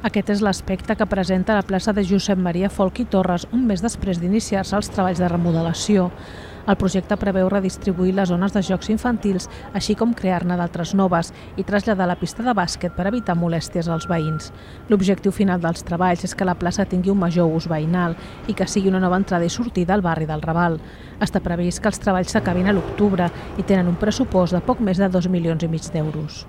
Aquest és l'aspecte que presenta la plaça de Josep Maria Folch i Torres un mes després d'iniciar-se els treballs de remodelació. El projecte preveu redistribuir les zones de jocs infantils, així com crear-ne d'altres noves i traslladar la pista de bàsquet per evitar molèsties als veïns. L'objectiu final dels treballs és que la plaça tingui un major ús veïnal i que sigui una nova entrada i sortida al barri del Raval. Està previst que els treballs s'acabin a l'octubre i tenen un pressupost de poc més de 2,5 milions d'euros.